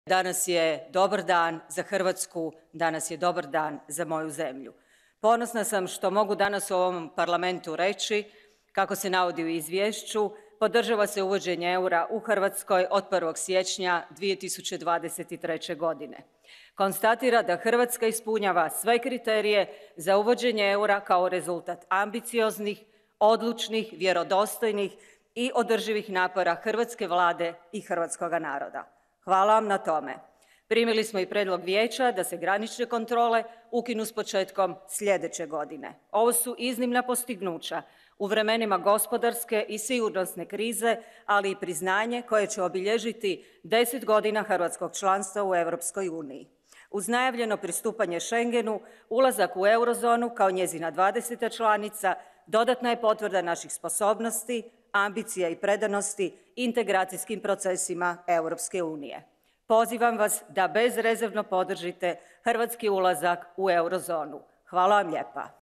Danas je dobar dan za Hrvatsku, danas je dobar dan za moju zemlju. Ponosna sam što mogu danas u ovom parlamentu reći, kako se navodi u izvješću, podržava se uvođenje eura u Hrvatskoj od 1. siječnja 2023. godine. Konstatira da Hrvatska ispunjava sve kriterije za uvođenje eura kao rezultat ambicioznih, odlučnih, vjerodostojnih i održivih napora hrvatske vlade i hrvatskoga naroda. Hvala vam na tome. Primili smo i prijedlog vijeća da se granične kontrole ukinu s početkom sljedeće godine. Ovo su iznimna postignuća u vremenima gospodarske i sigurnosne krize, ali i priznanje koje će obilježiti 10 godina hrvatskog članstva u Europskoj uniji. Uz najavljeno pristupanje Schengenu, ulazak u eurozonu kao njezina 20. članica dodatna je potvrda naših sposobnosti, ambicija i predanosti integracijskim procesima Europske unije. Pozivam vas da bezrezervno podržite hrvatski ulazak u eurozonu. Hvala vam lijepa.